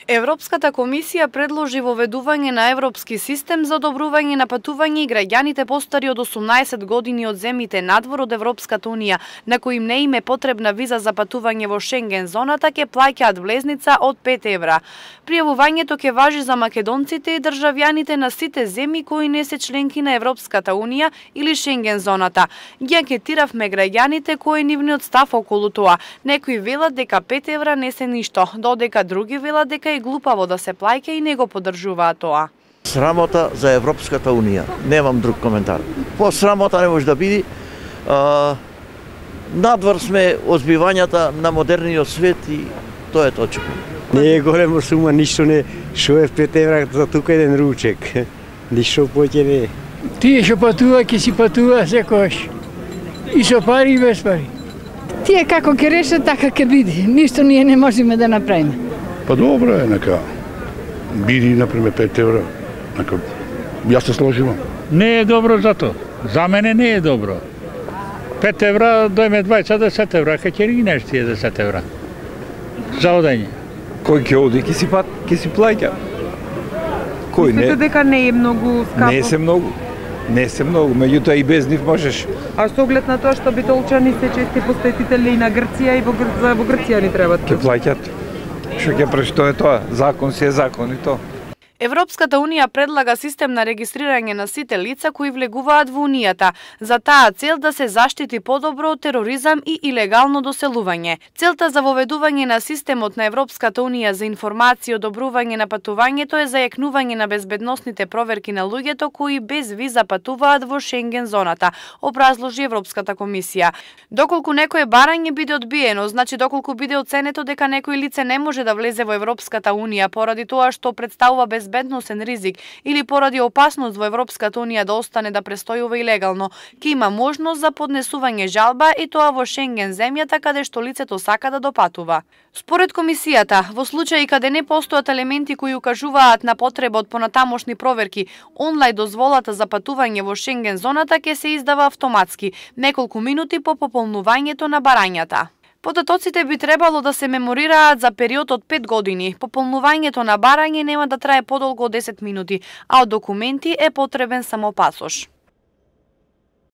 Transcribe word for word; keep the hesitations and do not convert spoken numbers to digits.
Европската комисија предложи воведување на европски систем за одобрување на патување и граѓаните постари од осумнаесет години од земјите надвор од Европската унија, на кои им не им е потребна виза за патување во Шенген зоната, ќе плаќаат влезница од пет евра. Пријавувањето ќе важи за македонците и државјаните на сите земји кои не се членки на Европската унија или Шенген зоната. Ги анкетиравме граѓаните кој е нивниот став околу тоа. Некои велат дека пет евра не се ништо, додека други велат дека е глупаво да се плаќа и не го поддржуваат тоа. Срамота за Европската унија. Немам друг коментар. По срамота не може да биде. А, надвор сме од збивањата на модерниот свет и тоа е точно. Не е голема сума, ништо не. Шо е пет евра за тука еден ручек. Ништо поќе не е. Тие што патува, ќе си патува секојаш. И со пари и без пари. Тие како ќе решат, така ќе биде. Ништо ние не можеме да направиме. Па добро е, нека биди, например, пет евра. Нека, јас се сложивам. Не е добро за тоа. За мене не е добро. пет евра, дојме дваесет десет евра, ка ќе ригнеш тие десет евра. За одење. Кој ќе оди, ќе си, пат, ќе си плаќа. Кој не? Мислите дека не е многу скапо? Не се многу. Не се многу, меѓутоа и без нив можеш. А со оглед на тоа што битолчани се чести посетители на Грција и во, Гр... во Грција ни требат? Ќе плаќат. Што ќе преш, тоа е тоа. Закон си е закон и тоа. Европската унија предлага систем на регистрирање на сите лица кои влегуваат во унијата, за таа цел да се заштити подобро од тероризам и илегално доселување. Целта за воведување на системот на Европската унија за информација и одобрување на патувањето е зајакнување на безбедносните проверки на луѓето кои без виза патуваат во Шенген зоната, образложи Европската комисија. Доколку некое барање биде одбиено, значи доколку биде оценето дека некој лице не може да влезе во Европската унија поради тоа што представува без безбедносен ризик или поради опасност во Европската унија да остане да престојува илегално, ќе има можност за поднесување жалба и тоа во Шенген земјата каде што лицето сака да допатува. Според комисијата, во случаи каде не постојат елементи кои укажуваат на потреба од понатамошни проверки, онлајн дозволата за патување во Шенген зоната ќе се издава автоматски, неколку минути по пополнувањето на барањата. Податоците би требало да се меморираат за период од пет години. Пополнувањето на барање нема да трае подолго од десет минути, а од документи е потребен само пасош.